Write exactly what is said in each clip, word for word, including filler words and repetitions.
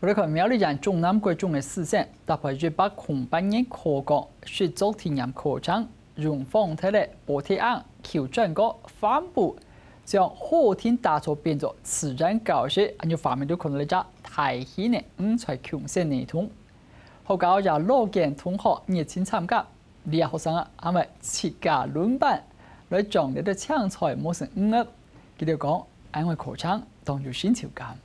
來看苗栗縣中南國中个師生，搭配一百空八年課綱實作體驗課程，用方體个補體餡、口唇膏、帆布，將課程打造變做自然教室，恁樣畫面都看到一隻大型个五彩共生系統。學校也老見同學熱情參加，這學生啊，還會自家輪班來將這个青菜磨成五粒。佢兜講，恁樣个課程當有成就感。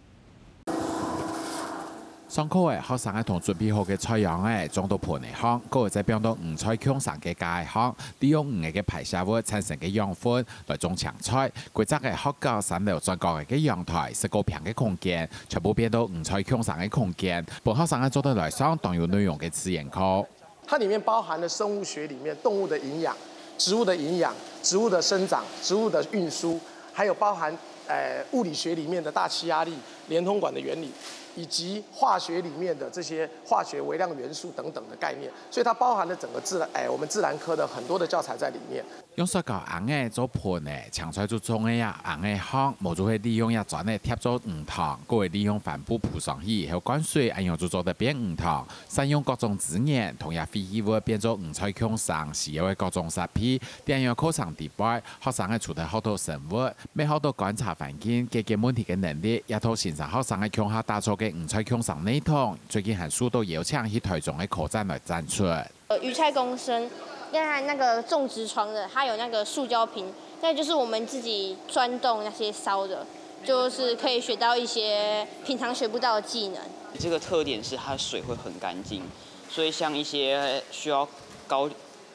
上課个學生仔同準備好个菜秧仔裝到盆仔項，過後再放到五彩共生个架仔項，利用魚仔个排泄物產生个養分來種青菜。規隻个學校三樓轉角仔个陽台，十九坪个空間，全部變到五彩共生个空間，分學生仔做得來上當有內容个自然課。 它裡面包含了生物學裡面動物的營養、植物的營養、植物的生長、植物的運輸，還有包含呃物理學裡面的大氣壓力、連通管的原理，以及化學裡面的這些化學微量元素等等的概念。所以它包含了整個自然，哎，我們自然科的很多的教材在裡面。用塑膠罌仔做盆仔，青菜就種在這罌仔項，無就係利用這磚仔疊做魚塘，過後利用帆布鋪上去，後灌水，恁樣就做得變魚塘。 善用各種資源，同這廢棄物變做五彩共生需要个各種設備。在恁樣課程底背，學生仔除忒學到生物，乜學到觀察環境、解決問題个能力，這套新生學生仔共下打造个五彩共生系統，最近還受到邀請去臺中个科展來展出。呃，魚菜共生，另外那個種植床的，它有那個塑膠瓶，那就是我們自己鑽洞那些燒的，就是可以學到一些平常學不到的技能。這個特點是它水會很乾淨，所以像一些需要高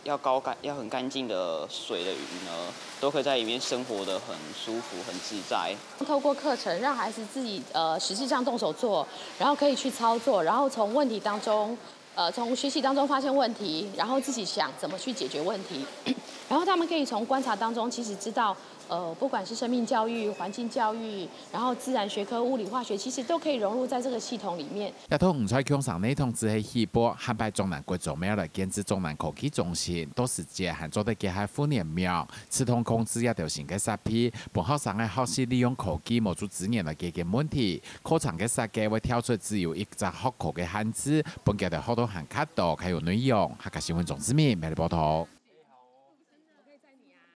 要高乾要很乾淨的水的魚呢，都可以在裡面生活的很舒服、很自在。透過課程，讓孩子自己呃實際上動手做，然後可以去操作，然後從問題當中，呃從學習當中發現問題，然後自己想怎麼去解決問題，然後他們可以從觀察當中其實知道，呃不管是生命教育、環境教育，然後自然學科、物理、化學，其實都可以融入在這個系統裡面。 這套五彩共生系統只係起步，下擺中南國中乜愛來建置中南科技中心，到時節還做得結合互聯網、自動控制這兜新个設備，分學生仔學習利用科技無就資源來解決問題。課程个設計會跳出只有一隻學科个限制，分佢兜學到還較多、較有內容。客家新聞鍾志明，苗栗報導。